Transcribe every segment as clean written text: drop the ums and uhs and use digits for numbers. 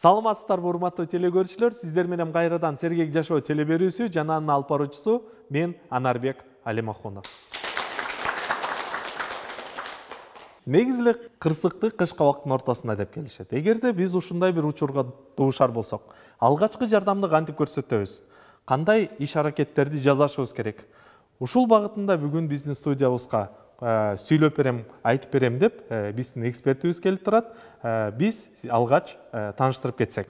Саламатсыздарбы урматтуу телекөрүүчүлөр, сиздер менен кайрадан Сергек жашоо телеберүүсү жана анын алып баруучусу мен Анарбек Алимахунов. Негизи эле кырсыкты кышкы убакыттын ортосунда деп келишет. Эгерде биз ушундай бир учурга дуушар болсок, алгачкы жардамды кантип көрсөтөбүз? Кандай иш-аракеттерди жасашыбыз керек? Ушул багытында бүгүн биздин студиябызга сүйлөп берем, айтып берем деп биздин экспертибиз келип турат. Биз алгач тааныштырып кетсек.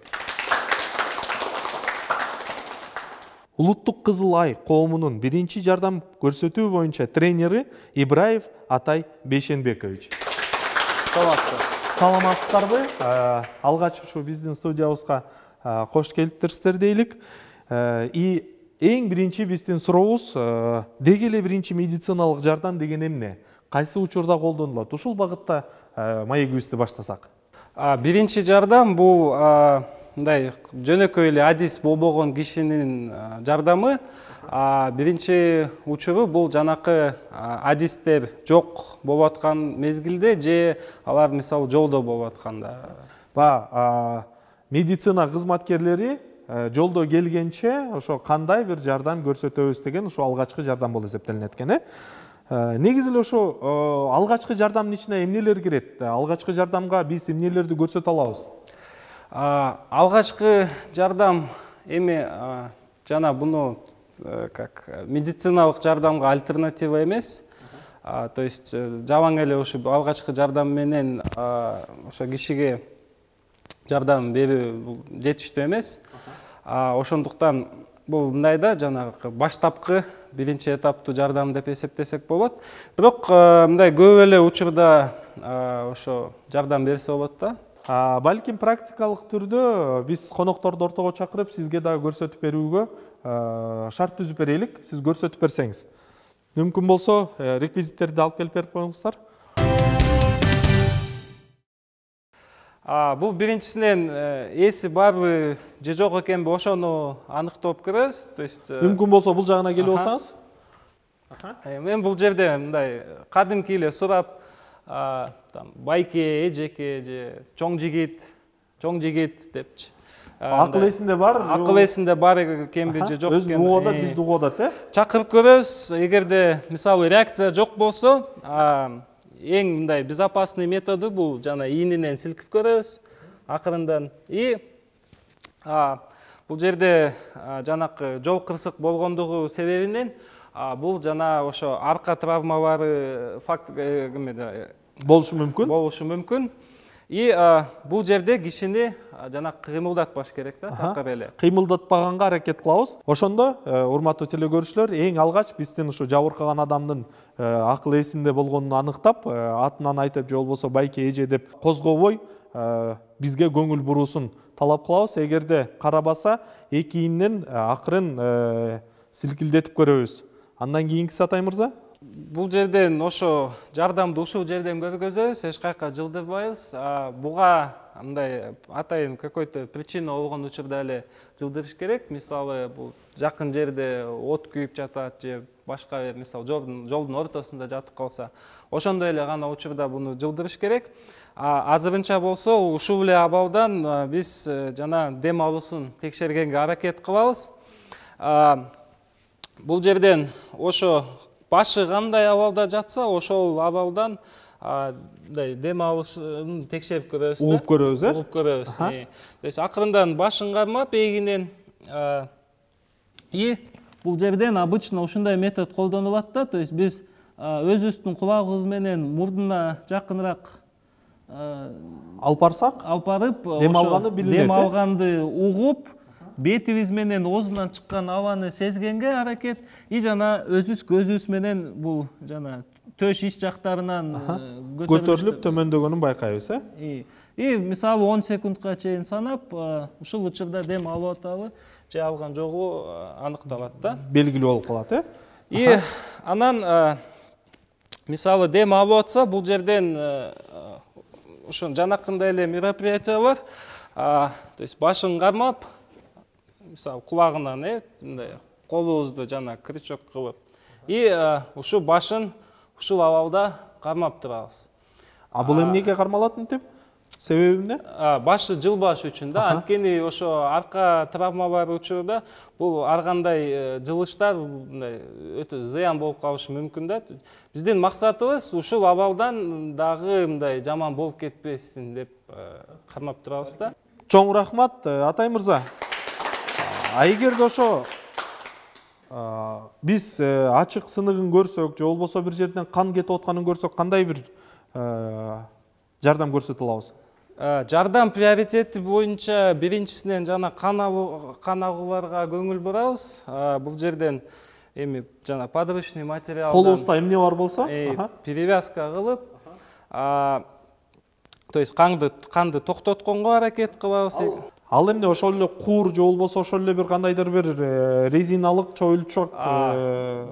Улуттук Кызыл Ай коомунун биринчи жардам көрсөтүү боюнча тренери Ибраев Атай Бейшенбекович. Саламатсыздарбы? Алгач ушу биздин студиябызга кош келиптирсиздер дейлик. Эң биринчи биздин сурообуз, деги эле биринчи медициналык жардам деген эмне? Кайсы учурда колдонулат? Ушул багытта маегибизди баштасак. Биринчи жардам бул мындай жөнөкөй эле адис болбогон кишинин жардамы. Биринчи учуру бул жанакы адистер жок болуп аткан мезгилде же алар мисалы жолдо болуп атканда. Медицина кызматкерлери жолдо келгенче ошо кандай бир жардам көрсөтөбүз деген ошо алгачкы жардам болуп эсептелинет экен. Негизи эле ошо алгачкы жардамдын ичине эмнелер кирет? Алгачкы жардамга биз эмнелерди көрсөтө алабыз? Алгачкы жардам эми жана буну как медициналык жардамга альтернатива эмес. То есть жалаң эле ушу алгачкы жардам менен ошо кишиге жардам берүү жетиштүү эмес. Ошондуктан бул мындай да жанагы баштапкы биринчи этаптуу жардам деп эсептесек болот. Бирок мындай көп эле учурда ошо жардам берсе болот да. Балким практикалык түрдө биз конокторду ортого чакырып, сизге дагы көрсөтүп берүүгө шарт түзүп берелик. Сиз көрсөтүп берсеңиз. Мүмкүн болсо, реквизиттерди алып келип берип коюңуздар. Бул биринчисинен эси барбы же жок экенби ошону аныктап көрөбүз. То есть мүмкүн болсо бул жагына келип алсаңыз. Мен бул жерде мындай кадимки эле сурап, байке, эжеке же чоң жигит депчи. Акыл эсинде бар? Акыл эсинде бар экенби же жок экенби? Өзү угуп бизди угуп атат, Чакырып көрөбүз. Эгерде мисалы реакция жок болсо, эң мындай безопасный методу бул жана ийининен силкип көрөбүз акырындан. Бул жерде жанакы жол кырсык болгондугу себебинен бул жана ошо арка травмалары факт болушу мүмкүн. Бул жерде кишини жана кыймылдатпаш керек да, такыр эле. Кыймылдатпаганга аракет кылабыз. Ошондо, урматтуу телекөрүүчүлөр, эң алгач биздин ушу жабыркаган адамдын акыл эсинде болгонун аныктап, атынан айтып, же болбосо байке, эже деп козгобой бизге көңүл буруусун талап кылабыз. Эгерде карабаса, эки ийинен акырын силкилдетип көрөбүз. Андан кийинкиси Атай мырза? Бул жерден ошо жардамды ушул жерден көргөзөбүз, эч кайка жылдырбайбыз. Буга мындай атайын какой-то причина болгон учурда эле жылдырыш керек. Мисалы, бул жакын жерде от күйүп жатат же башка мисалы жолдун ортосунда жатып калса, ошондой эле гана учурда буну жылдырыш керек. Азырынча болсо ушул эле абалдан биз жана дем алуусун текшергенге аракет кылабыз. Бул жерден ошо башы кандай абалда жатса, ошол абалдан дем алышын текшерип көрөбүз. Угуп көрөбүз, Угуп көрөбүз. То есть акырындан башын кармап, эгинен бул жерден обычно ушундай метод колдонулат да. То есть биз өзүбүздүн кулагыбыз менен мурдуна жакыныраак алып барсак, дем алганы билинет. Дем алганды угуп, бетибиз менен оозунан чыккан абаны сезгенге аракет, жана өзүбүз көзүбүз менен бул жана төш ич жактарынан көтөрүлүп төмөндөгөнүн байкайбыз, мисалы 10 секундка чейин санап, ушул учурда дем алып атабы же алган жогу аныкталат да. Белгилүү болуп калат, Анан мисалы дем алып атса, бул жерден ошо жанакындай эле мероприятие бар. То есть башын кармап, мисалы кулагынан мындай колубузду жана крючок кылып, ушу башын ушул абалда кармап турабыз. Бул эмнеге кармалат мынтип? Себеби эмне? Башы жылбаш үчүн да. Анткени ошо арка травма бар учурда бул ар кандай жылыштар мындай өтө зыян болуп калышы мүмкүн да. Биздин максатыбыз ушул абалдан дагы мындай жаман болуп кетпесин деп кармап турабыз да. Чоң рахмат, Атай мырза. Эгерде ошо биз ачык сыныгын көрсөк, же болбосо бир жерден кан кетип атканын көрсөк, кандай бир жардам көрсөтө алабыз? Жардам приоритети боюнча биринчисинен жана кан агууларга көңүл бурабыз. Бул жерден эми жана подручный материалдан Колубузда эмне бар болсо, перевязка кылып, то есть канды токтотконго аракет кылабыз. Ал эмне ошол эле куур же болбосо ошол эле бир кандайдыр бир резиналык чоюлчок?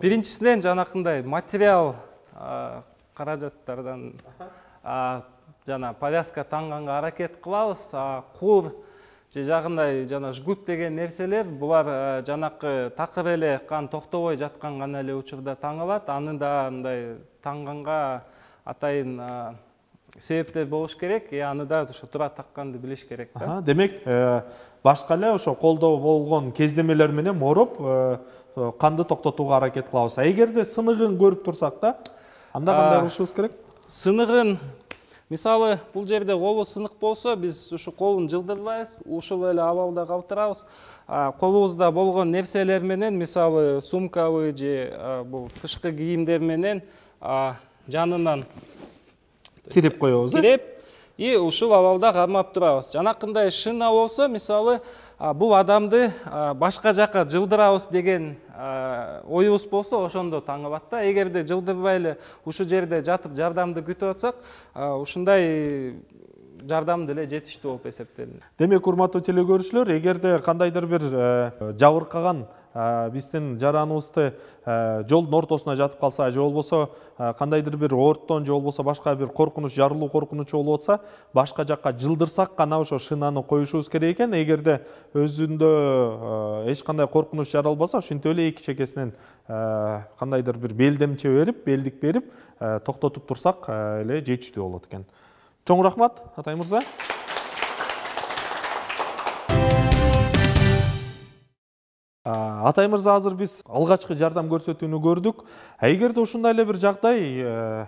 Биринчисинен жанакындай материал каражаттардан жана повязка таңганга аракет кылабыз. Куур же жагындай жана жгут деген нерселер булар жанакы такыр эле кан токтобой жаткан гана эле учурда таңылат. Аны да мындай таңганга атайын себептер болуш керек. Аны да ошо туура такканды билиш керек да. Демек, башка эле ошо колдо болгон кездемелер менен мороп канды токтотууга аракет кылабыз. Эгерде сыныгын көрүп турсак да, анда кандай кылышыбыз керек? Сыныгын, мисалы, бул жерде колу сынык болсо, биз ушу колун жылдырбайбыз, ушул эле абалда калтырабыз. Колубузда болгон нерселер менен, мисалы, сумкабы же бул тышкы кийимдер менен жанынан кирип коебуз. Кирип, и ушул абалда кармап турабыз. Жанакындай шина болсо, мисалы, бул адамды башка жака жылдырабыз деген оюбуз болсо, ошондо таңыбат да. Эгерде жылдырбай эле ушу жерде жатып жардамды күтүп атсак, ушундай жардам деле жетиштүү болуп эсептелинет. Демек, урматтуу теле көрүүчүлөр, эгерде кандайдыр бир жабыркаган биздин жараныбызды жолдун ортосуна жатып калса, же болбосо кандайдыр бир ооруттон, же болбосо башка бир коркунуч, жарылуу коркунучу болуп атса, башка жакка жылдырсак гана ошо шинаны коюшубуз керек экен. Эгерде өзүндө эч кандай коркунуч жаралбаса, ошентип эле эки чекесинен кандайдыр бир белдемче берип, белдик берип, токтотуп турсак эле жетиштүү болот экен. Чоң рахмат, Атай мырза. Атай мырза, азыр биз алгачкы жардам көрсөтүүнү көрдүк. Эгерде ушундай эле бир жагдай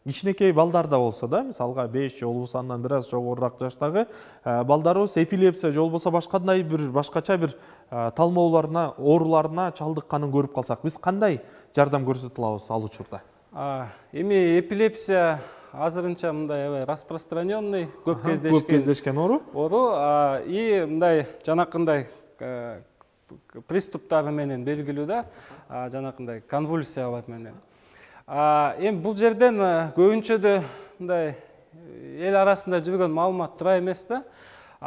кичинекей балдарда болсо да, мисалга 5 же болбосо андан бир аз жогорураак жаштагы балдарыбыз эпилепсия же болбосо башкандай бир башкача бир талмоолоруна, ооруларына чалдыкканын көрүп калсак, биз кандай жардам көрсөтө алабыз ал учурда? Эми эпилепсия азырынча мындай распространенный, көп кездешкен оору. И мындай жанакындай приступтары менен белгилүү да, жанакындай конвульсиялар менен. Эми бул жерден көбүнчөдө мындай эл арасында жүргөн маалымат туура эмес да.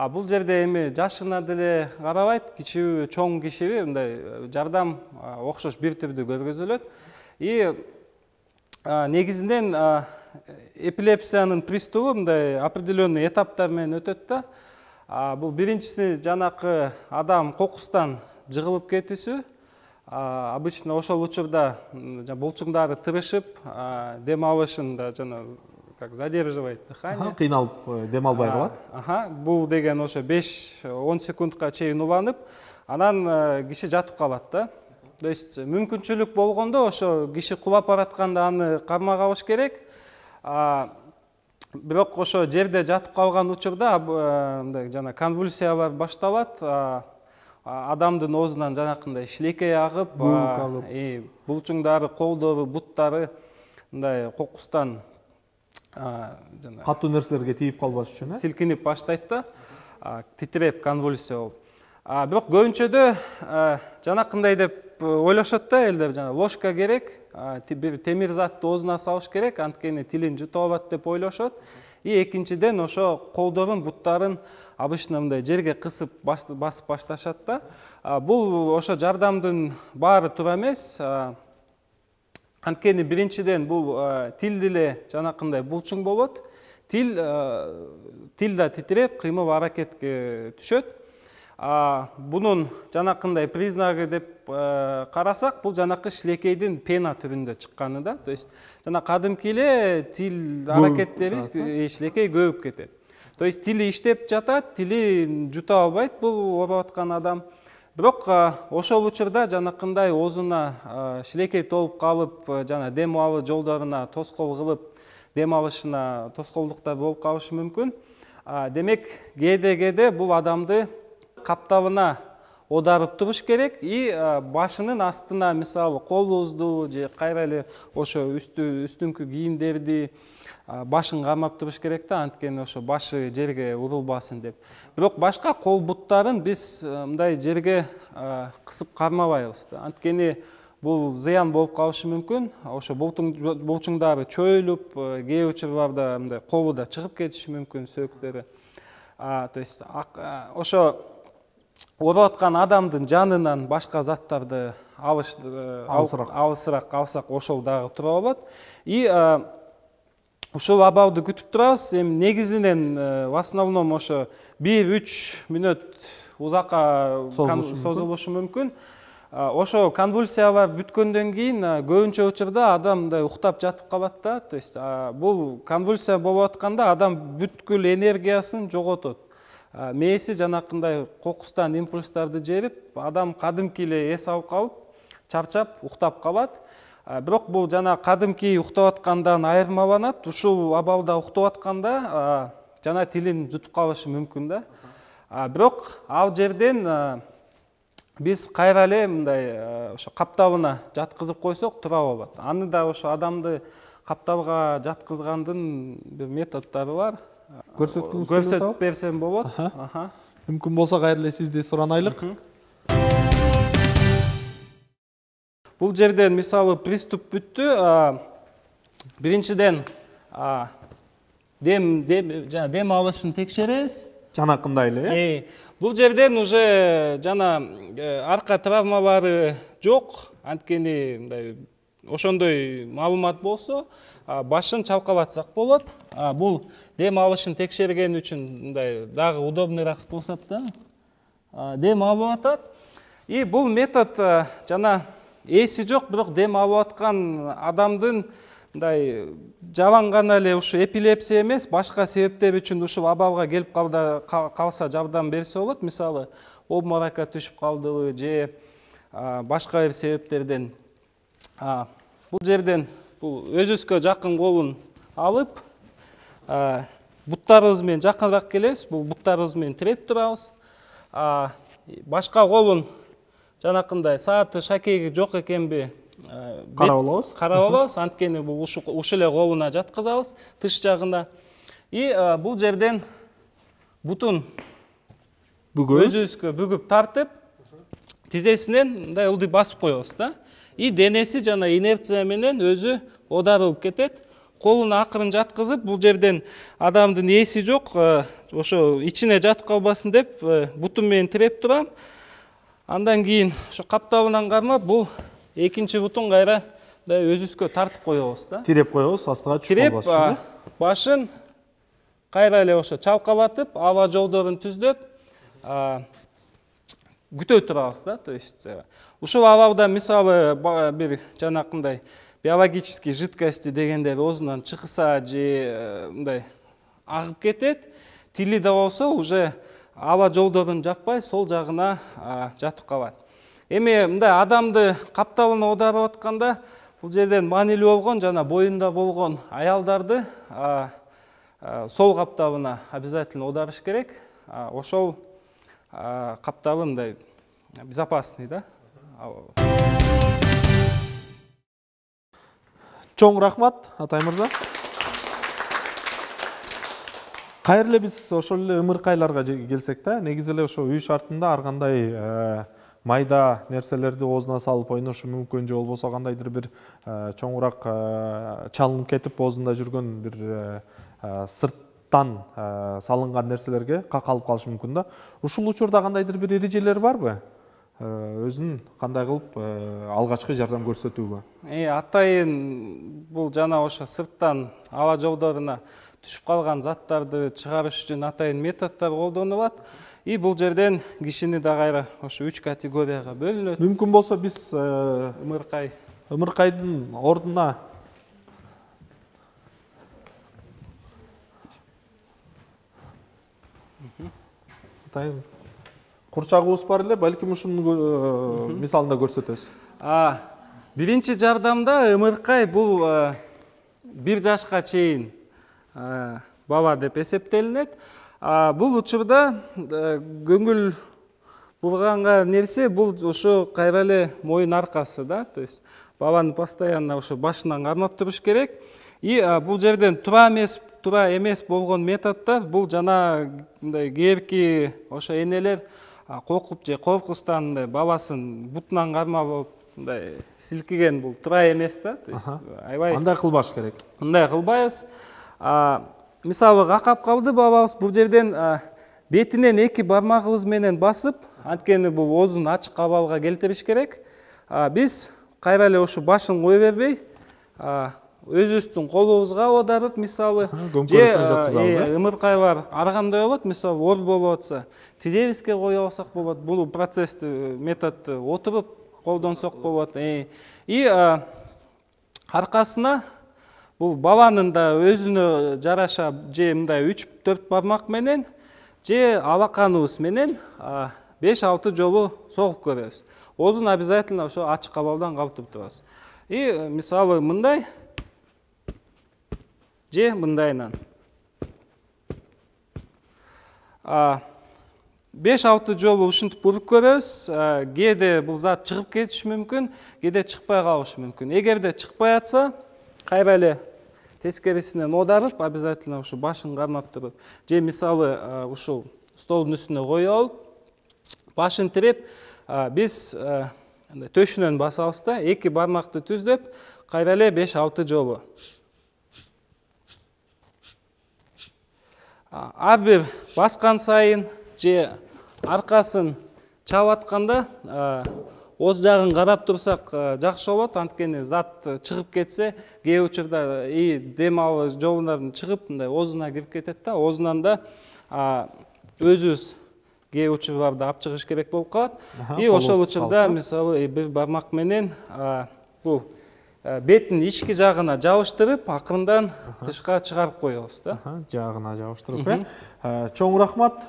Бул жерде эми жашына деле карабайт, кичүүбү, чоң кишиби мындай жардам окшош бир түрдүү көргөзүлөт. И негизинен эпилепсиянын приступу мындай определенный этаптар менен өтөт да. Бул биринчиси жанакы адам кокустан жыгылып кетүүсү. Обычно ошол учурда булчуңдары тырышып, дем алышын да жана как задерживает дыхание. Кыйналып дем албай калат. Бул деген ошо 5-10 секундка чейин уланып, анан киши жатып калат да. То есть мүмкүнчүлүк болгондо ошо киши кулап баратканда аны кармап алыш керек. Бирок ошо жерде жатып калган учурда мындай жана конвульсиялар башталат. Адамдын оозунан жанакындай шилекей агып, булчуңдары, колдору, буттары мындай кокустан жана катуу нерселерге тийип калбаш үчүн силкинип баштайт да, титиреп конвульсия болуп. Бирок көбүнчөдө жанакындай деп ойлошот да элдер, жана ложка керек, бир темир затты оозуна салыш керек, анткени тилин жутуп алат деп ойлошот. И экинчиден ошо колдорун, буттарын обычно мындай жерге кысып басып башташат да. Бул ошо жардамдын баары туура эмес. Анткени биринчиден бул тил деле жанакындай булчуң болот. Тил да титиреп, кыймыл аракетке түшөт. Бунун жанакындай признагы деп карасак, бул жанакы шилекейдин пена түрүндө чыкканы да. То есть жана кадимки эле тил аракеттери шилекей көбүп кетет. То есть тили иштеп жатат, тили жута албайт бул ооруп аткан адам. Бирок ошол учурда жанакындай оозуна шилекей толуп калып, жана дем алуу жолдоруна тоскоол кылып, дем алышына тоскоолдуктар болуп калышы мүмкүн. Демек, кээде бул адамды каптабына оодарып туруш керек и башынын астына, мисалы, колубузду же кайра эле ошо үстүңкү кийимдерди башын кармап туруш керек да, анткени ошо башы жерге урулбасын деп. Бирок башка кол буттарын биз мындай жерге кысып кармабайбыз да. Анткени бул зыян болуп калышы мүмкүн. Ошо булчуңдары чөйүлүп, кээ учурларда мындай колу да чыгып кетиши мүмкүн, сөөктөрү. То есть ошо ооруп аткан адамдын жанынан башка заттарды алысыраак алсак ошол дагы тура болот. И ушул абалды күтүп турабыз. Эми негизинен в основном ошо 1-3 мүнөт узакка созулушу мүмкүн. Ошо конвульсиялар бүткөндөн кийин көбүнчө учурда адам мындай уктап жатып калат да. То есть бул конвульсия болуп атканда адам бүткүл энергиясын жоготот. Мээси жанакындай кокустан импульстарды жерип, адам кадимки эле эс алып калып, чарчап, уктап калат. Бирок бул жана кадимки уктап аткандан айырмаланат. Ушул абалда уктап атканда жана тилин жутуп калышы мүмкүн да. Бирок ал жерден биз кайра эле мындай ошо каптабына жаткызып койсок тура болот. Аны да ошо адамды каптабга жаткызгандын бир методдору бар. Көрсөтүп берсем болот. Мүмкүн болсо кайра эле сизди суранайлык. Бул жерден мисалы приступ бүттү. Биринчиден дем алышын текшеребиз. Жанакындай эле. Бул жерден уже жана арка травмалары жок. Анткени мындай ошондой маалымат болсо, башын чалкалатсак болот. Бул дем алышын текшерген үчүн мындай дагы удобныйраак способ да. Дем алып атат. И бул метод жана эси жок, бирок дем алып аткан адамдын мындай жабан гана эле ушу эпилепсия эмес, башка себептер үчүн ушул абалга келип калса жардам берсе болот. Мисалы, обморокко түшүп калдыбы же башка бир себептерден. Бул жерден бул өзүбүзгө жакын колун алып, буттарыбыз менен жакыныраак келебиз. Бул буттарыбыз менен тиреп турабыз. Башка колун жанакындай сааты шакеги жок экенби карап алабыз. Анткени бул ушул эле колуна жаткызабыз, тыш жагына. И бул жерден бутун өзүбүзгө бүгүп тартып, тизесинен мындай ылдый басып коебуз да. И денеси жана инерция менен өзү оодарылып кетет. Колун акырын жаткызып, бул жерден адамдын эси жок, ошо ичине жатып калбасын деп бутум менен тиреп турам. Андан кийин ошо каптабынан кармап, бул экинчи бутун кайра өзүбүзгө тартып коебуз да. Тиреп коебуз, астыга түшүп калбасын. Тиреп, башын кайра эле ошо чалкалатып, аба жолдорун түздөп, күтө турабыз да. То есть ушул абалда мисалы бир жанакындай биологический жидкости дегендер оозунан чыкса же мындай агып кетет, тили да болсо уже аба жолдорун жаппай сол жагына жатып калат. Эми мындай адамды каптабына оодарып атканда бул жерден маанилүү болгон жана боюнда болгон аялдарды сол каптабына обязательно оодарыш керек. Ошол каптабы мындай безопасный да. Чоң рахмат, Атай мырза. Кайра эле биз ошол эле ымыркайларга келсек да, негизи эле ошо үй шартында ар кандай майда нерселерди оозуна салып ойношу мүмкүн, же болбосо кандайдыр бир чоңураак чалынып кетип оозунда жүргөн бир сырттан салынган нерселерге какалып калышы мүмкүн да. Ушул учурда кандайдыр бир эрежелер барбы? Өзүн кандай кылып алгачкы жардам көрсөтүүгө? Атайын бул жана ошо сырттан аба жолдоруна түшүп калган заттарды чыгарыш үчүн атайын методдор колдонулат. И бул жерден кишини да кайра ошо 3 категорияга бөлүнөт. Мүмкүн болсо биз ымыркайдын ордуна Атайын курчагыбыз бар эле, балким ушунун мисалында көрсөтөбүз. Биринчи жардамда ымыркай бул 1 жашка чейин бала деп эсептелинет. Бул учурда көңүл бурганга нерсе бул ошо кайра эле моюн аркасы да, то есть баланы постоянно ошо башынан кармап туруш керек. И бул жерден тура эмес болгон методдор бул жана мындай кээбирки ошо энелер коркуп же коркустан мындай баласын бутунан кармап алып мындай силкиген, бул тура эмес да, то есть аябай Андай кылбаш керек. Мындай кылбайбыз. Мисалы какап калды балабыз, бул жерден бетинен 2 бармагыбыз менен басып, анткени бул оозун ачык абалга келтириш керек. Биз кайра эле ушу башын кое бербей, өзүбүздүн колубузга оодарып, мисалы, же ымыркайлар ар кандай болот, мисалы, оор болуп атса, тизебизге кое алсак болот. Бул процессти, методду отуруп колдонсок болот. И аркасына бул баланын да өзүнө жараша же мындай 3-4 бармак менен же алаканыбыз менен 5-6 жолу согуп көрөбүз. Оозун обязательно ошо ачык абалдан калтырып турабыз. И мисалы мындай же мындайынан 5-6 жолу ушинтип уруп көрөбүз. Кээде бул зат чыгып кетиши мүмкүн, кээде чыкпай калышы мүмкүн. Эгерде чыкпай атса, кайра эле тескерисинен оодарып, обязательно ушу башын кармап туруп, же мисалы ушул столдун үстүнө коюп алып, башын тиреп, биз төшүнөн басабыз да, 2 бармакты түздөп, кайра эле 5-6 жолу. Ар бир баскан сайын же аркасын чалып атканда оз жагын карап турсак жакшы болот, анткени зат чыгып кетсе, кээ учурда дем алуу жолунан чыгып, мындай оозуна кирип кетет да, оозунан да өзүбүз кээ учурларда алып чыгыш керек болуп калат. И ошол учурда мисалы 1 бармак менен бул беттин ички жагына жабыштырып, акырындан тышка чыгарып коебуз да. Жагына жабыштырып, чоң рахмат.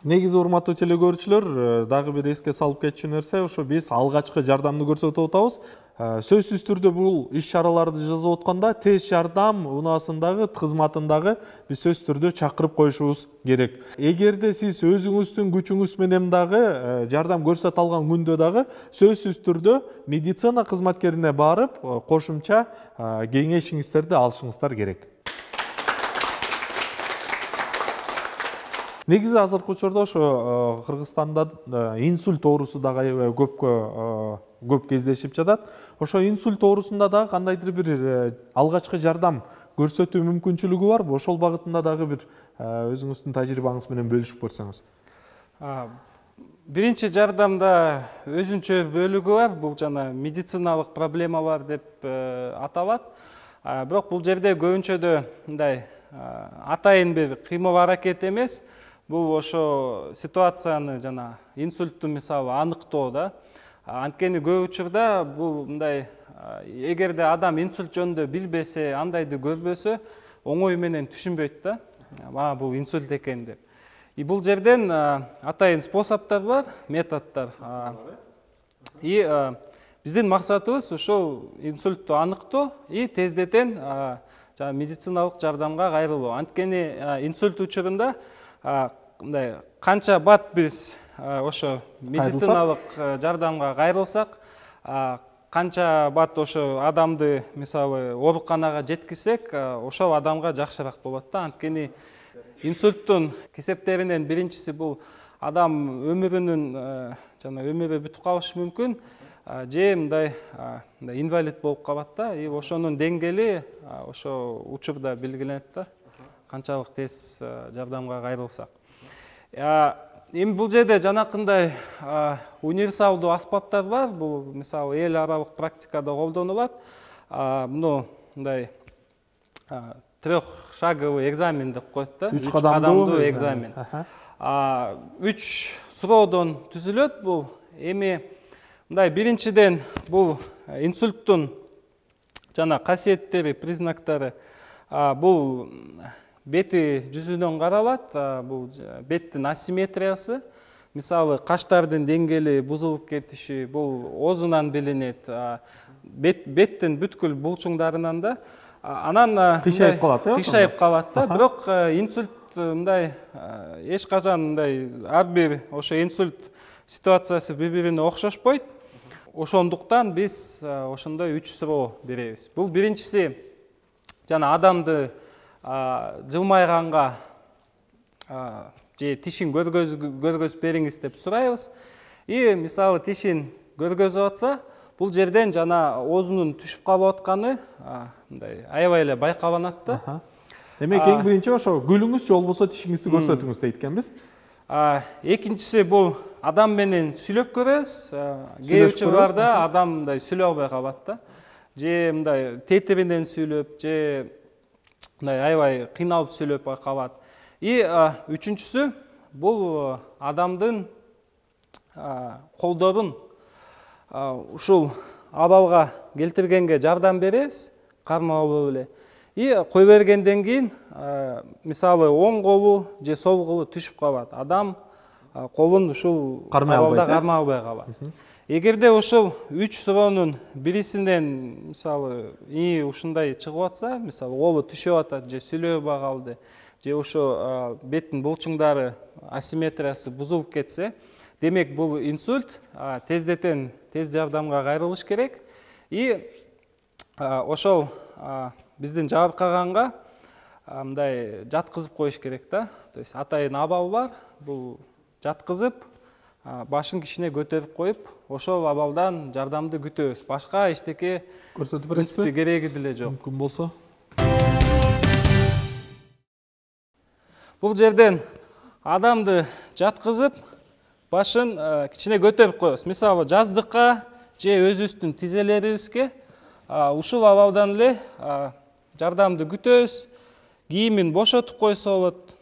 Негизи урматтуу телекөрүүчүлөр, дагы бир эске салып кетчү нерсе, ошо биз алгачкы жардамды көрсөтүп атабыз. Сөзсүз түрдө бул иш-чараларды жасап атканда тез жардам унаасындагы кызматындагы биз сөзсүз түрдө чакырып коюшубуз керек. Эгерде сиз өзүңүздүн күчүңүз менен дагы жардам көрсөтө алган күндө дагы сөзсүз түрдө медицина кызматкерине барып, кошумча кеңешиңиздерди алышыңыздар керек. Негизи азыркы учурда ошо Кыргызстанда инсульт оорусу дагы аябай көп кездешип жатат. Ошо инсульт оорусунда дагы кандайдыр бир алгачкы жардам көрсөтүү мүмкүнчүлүгү барбы? Ошол багытында дагы бир өзүңүздүн тажрыйбаңыз менен бөлүшүп көрсөңүз. Биринчи жардамда өзүнчө бөлүгү бар, бул жана медициналык проблемалар деп аталат. Бирок бул жерде көбүнчөдө мындай атайын бир кыймыл аракет эмес, бул ошо ситуацияны жана инсультту мисалы аныктоо да. Анткени көп учурда бул мындай, эгерде адам инсульт жөнүндө билбесе, андайды көрбөсө, оңой менен түшүнбөйт да, мага бул инсульт экен деп. И бул жерден атайын способдор бар, методдор. И биздин максатыбыз ошол инсультту аныктоо и тездетен медициналык жардамга кайрылуу. Анткени инсульт учурунда мындай канча бат биз ошо медициналык жардамга кайрылсак, канча бат ошо адамды мисалы ооруканага жеткизсек, ошол адамга жакшыраак болот да. Анткени инсульттун кесептеринен биринчиси бул адам өмүрүнүн жана өмүрү бүтүп калышы мүмкүн, же мындай инвалид болуп калат да. И ошонун деңгээли ошо учурда белгиленет да, канчалык тез жардамга кайрылсак. Эми бул жерде жанакындай универсалдуу аспаптар бар. Бул мисалы эл аралык практикада колдонулат. Муну мындай трехшаговый экзамен деп коет да. 3 кадамдуу экзамен. 3 суроодон түзүлөт бул. Эми мындай биринчиден бул инсульттун жана касиеттери, признактары Бул бети жүзүнөн каралат. Бул беттин асимметриясы. Мисалы, каштардын деңгээли бузулуп кетиши бул оозунан билинет. Беттин бүткүл булчуңдарынан да. Анан кыйшайып калат, кыйшайып калат да. Бирок инсульт мындай эч качан мындай ар бир ошо инсульт ситуациясы бири-бирине окшошпойт. Ошондуктан биз ошондой 3 суроо беребиз. Бул биринчиси жана адамды жылмайганга же тишин көргөзүп бериңиз деп сурайбыз. Мисалы, тишин көргөзүп атса, бул жерден жана оозунун түшүп калып атканы мындай аябай эле байкаланат да. Демек, эң биринчи ошо гүлүңүз же болбосо тишиңизди көрсөтүңүз дейт экенбиз. Экинчиси бул адам менен сүйлөп көрөбүз. Кээ учурларда адам мындай сүйлөй албай калат да. Же мындай тетиринен сүйлөп, же мындай аябай кыйналып сүйлөп калат. Үчүнчүсү бул адамдын колдорун ушул абалга келтиргенге жардам беребиз, кармалып эле. Кой бергенден кийин, мисалы, оң колу же сол колу түшүп калат. Адам колун ушул абалда кармай албай калат. Эгерде ушул 3 суроонун бирисинен, мисалы, ушундай чыгып атса, мисалы, колу түшүп атат же сүйлөй албай калды, же ошо беттин булчуңдары асимметриясы бузулуп кетсе, демек бул инсульт, тез жардамга кайрылыш керек. Ошол биздин жабыркаганга мындай жаткызып коюш керек да. То есть атайын абал бар, бул жаткызып, башын кичине көтөрүп коюп, ошол абалдан жардамды күтөбүз. Башка эчтеке көрсөтүп бересизби? Кереги деле жок. Мүмкүн болсо. Бул жерден адамды жаткызып, башын кичине көтөрүп коебуз. Мисалы, жаздыкка же өзүбүздүн тизелерибизге ушул абалдан эле жардамды күтөбүз. Кийимин бошотуп койсо болот.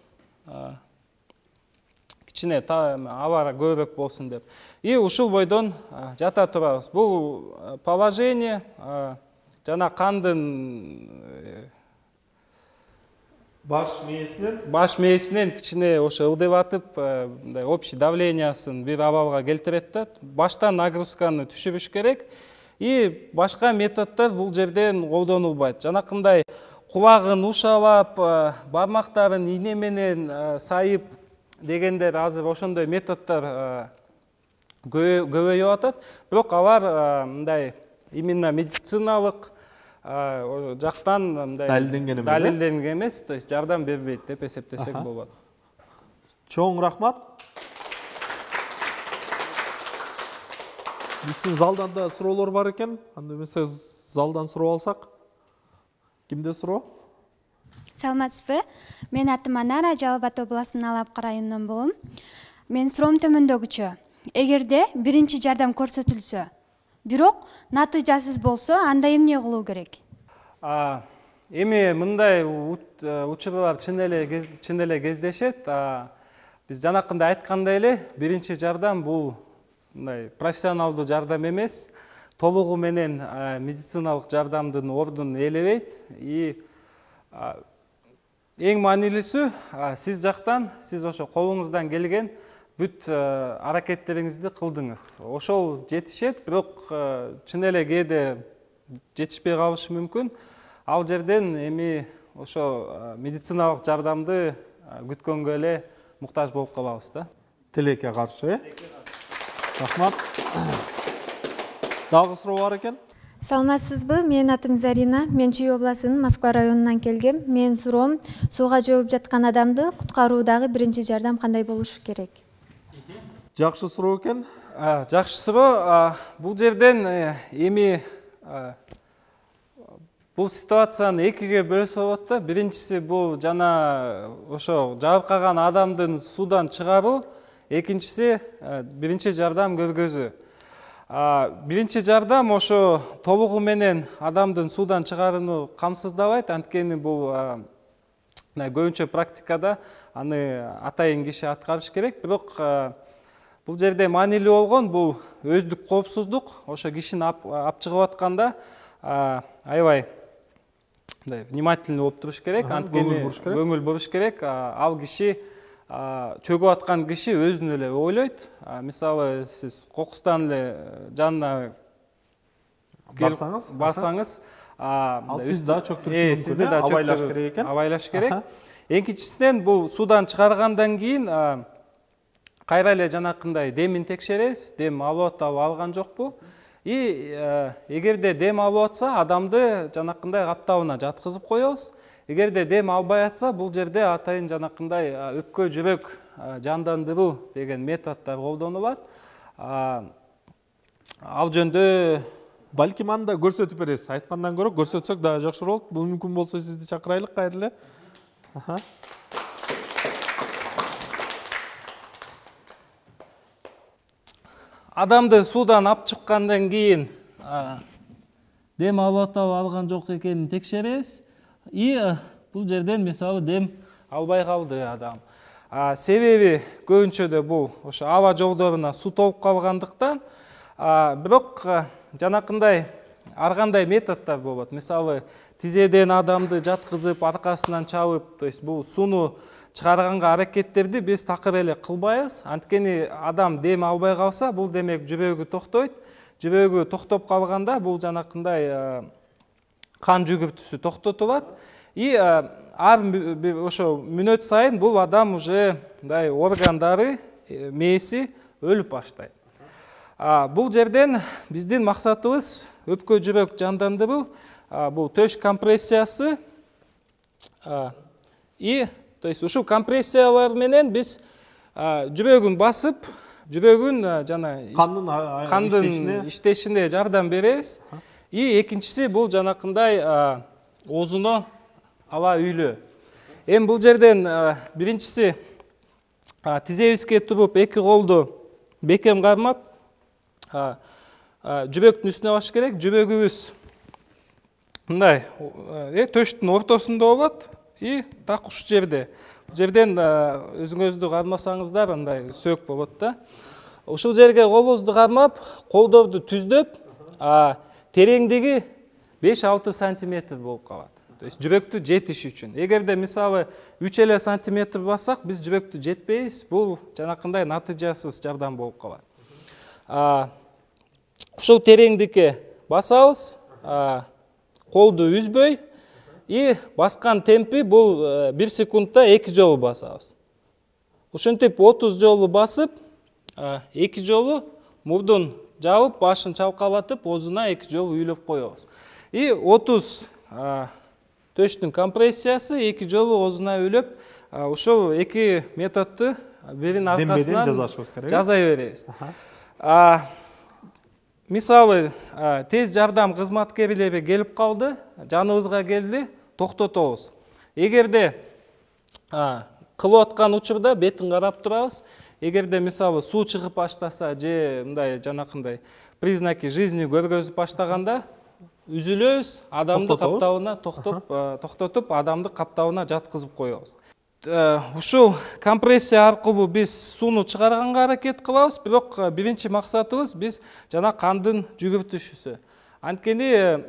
Кичине абара көбүрөөк болсун деп. Ушул бойдон жата турабыз. Бул положение жана кандын баш мээсинен кичине ошо ылдыбатып, мындай общий давлениясын бир абалга келтирет да. Баштан нагрузканы түшүрүш керек. Башка методдор бул жерден колдонулбайт. Жанакындай кулагын ушалап, бармактарын ийне менен сайып дегендер азыр ошондой методдор көбөйүп атат. Бирок алар мындай именно медициналык жактан мындай далилденген эмес, то есть жардам бербейт деп эсептесек болот. Чоң рахмат. Биздин залдан да суроолор бар экен. Анда эмесе залдан суроо алсак. Кимде суроо? Саламатсызбы? Мен атым Анара, Жалал Абад областынын Алапкы районунан болом. Мен суроом төмөндөгүчө. Эгерде биринчи жардам көрсөтүлсө, бирок натыйжасыз болсо, анда эмне кылуу керек? Эми мындай учурлар чын эле кездешет. Биз жанакында айткандай эле, биринчи жардам бул мындай профессионалдуу жардам эмес, толугу менен медициналык жардамдын ордун ээлебейт. Эң маанилүүсү сиз жактан, сиз ошо колуңуздан келген бүт аракеттериңизди кылдыңыз. Ошол жетишет, бирок чын эле кээде жетишпей калышы мүмкүн. Ал жерден эми ошо медициналык жардамды күткөнгө эле муктаж болуп калабыз да. Тилекке каршы, рахмат. Дагы суроо бар экен? Саламатсызбы? Менин атым Зарина. Мен Чүй областынын Москва районунан келгем. Менин суроом, сууга жооп жаткан адамды куткаруудагы биринчи жардам кандай болушу керек? Жакшы суроо экен. Жакшы суроо. Бул жерден эми бул ситуацияны экиге бөлсө болот да. Биринчиси бул жана ошо жабыркаган адамдын суудан чыгаруу, экинчиси биринчи жардам көргөзүү. Биринчи жардам ошо толугу менен адамдын суудан чыгарууну камсыздабайт. Анткени бул көбүнчө практикада аны атайын киши аткарыш керек. Бирок бул жерде маанилүү болгон бул өздүк коопсуздук. Ошо кишини ап чыгып атканда аябай мындай внимательный болуп туруш керек, анткени көңүл буруш керек. Ал киши чөгүп аткан киши өзүн эле ойлойт. Мисалы сиз кокустан эле жанына барсаңыз, ал сизди да чөктүрүшү мүмкүн. Сизди да абайлаш керек экен. Абайлаш керек. Экинчисинен бул суудан чыгаргандан кийин кайра эле жанакындай демин текшеребиз. Дем алып атабы, алган жокпу? Эгерде дем алып атса, адамды жанакындай каптабына жаткызып коебуз. Эгерде дем албай атса, бул жерде атайын жанакындай өпкө жүрөк жандандыруу деген методдор колдонулат. Ал жөндө балким аны да көрсөтүп бересиз. Айткандан көрө көрсөтсөк дагы жакшы болот. Бул мүмкүн болсо сизди чакырайлык кайра эле. Адамды суудан алып чыккандан кийин дем алып атабы, алган жок экенин текшеребиз. Бул жерден мисалы дем албай калды адам. Себеби көбүнчөдө бул ошо аба жолдоруна суу толуп калгандыктан, бирок жанакындай ар кандай методдор болот. Мисалы тизеден адамды жаткызып, аркасынан чалып, то есть бул сууну чыгарганга аракеттерди биз такыр эле кылбайбыз. Анткени адам дем албай калса, бул демек жүрөгү токтойт. Жүрөгү токтоп калганда бул жанакындай кан жүгүртүүсү токтотулат. Ар ошо мүнөт сайын бул адам уже мындай органдары, мээси өлүп баштайт. Бул жерден биздин максатыбыз өпкө жүрөк жандандыруу, бул төш компрессиясы. То есть ушул компрессиялар менен биз жүрөгүн басып, жүрөгүн жана кандын иштешине жардам беребиз. Экинчиси бул жанакындай оозуна аба үйлөө. Эми бул жерден биринчиси тизебизге туруп, эки колду бекем кармап, жүрөктүн үстүнө басыш керек. Жүрөгүбүз мындай төштүн ортосунда болот, так ушул жерде. Бул жерден өзүңүздү кармасаңыздар андай сөөк болот да. Ушул жерге колубузду кармап, колдорду түздөп, тереңдиги 5-6 сантиметр болуп калат. То есть жүрөктү жетиш үчүн. Эгерде мисалы 3 сантиметр бассак, биз жүрөктү жетпейбиз. Бул жанакындай натыйжасыз жардам болуп калат. Ушул тереңдикке басабыз, колду үзбөй, баскан темпи бул 1 секундта 2 жолу басабыз. Ушинтип 30 жолу басып, 2 жолу мурдун жабып, башын чалкалатып, оозуна 2 жолу үйлөп коебуз. 30 төштүн компрессиясы, 2 жолу оозуна үйлөп, ушул 2 методду биринин аркасынан жаза беребиз. Мисалы, тез жардам кызматкерлери келип калды, жаныбызга келди, токтотобуз. Эгерде кылып аткан учурда бетин карап турабыз. Эгерде мисалы суу чыгып баштаса же мындай жанакындай признаки жизни көргөзүп баштаганда үзүлөбүз, адамды каптабына токтотуп, адамды каптабына жаткызып коебуз. Ушул компрессия аркылуу биз сууну чыгарганга аракет кылабыз, бирок биринчи максатыбыз биз жана кандын жүгүртүшүсү. Анткени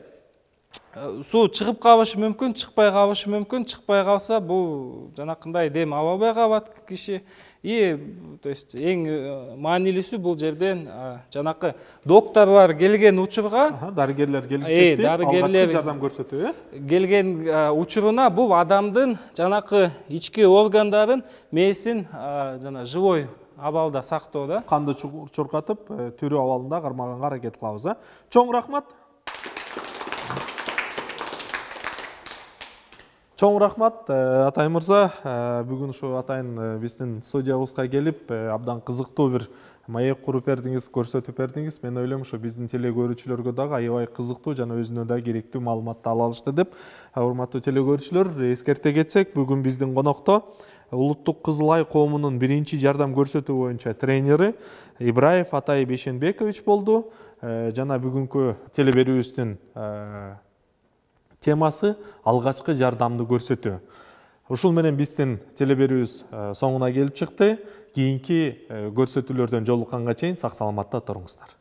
суу чыгып калышы мүмкүн, чыкпай калышы мүмкүн. Чыкпай калса бул жанакындай дем ала албай калат киши. То есть эң маанилүүсү бул жерден жанакы докторлор келген учурга, дарыгерлер келип жетти, алгачкы жардам көрсөтүү, келген учуруна бул адамдын жанакы ички органдарын, мээсин жана живой абалда сактоо да. Канды чуркатып, тирүү абалында кармаганга аракет кылабыз. Чоң рахмат. Чоң рахмат, Атай мырза. Бүгүн ушу атайын биздин студиябызга келип, абдан кызыктуу бир маек куруп бердиңиз, көрсөтүп бердиңиз. Мен ойлойм, ушу биздин телекөрүүчүлөргө дагы аябай кызыктуу жана өзүнө да керектүү маалыматты ала алышты деп. Урматтуу телекөрүүчүлөр, эскерте кетсек, бүгүн биздин конокто Улуттук Кызыл Ай коомунун биринчи жардам көрсөтүү боюнча тренери Ибраев Атай Бейшенбекович болду. Жана бүгүнкү телеберүүбүздүн темасы алгачкы жардамды көрсөтүү. Ушул менен биздин телеберүүбүз соңуна келип чыкты. Кийинки көрсөтүүлөрдөн жолукканга чейин сак саламатта туруңуздар.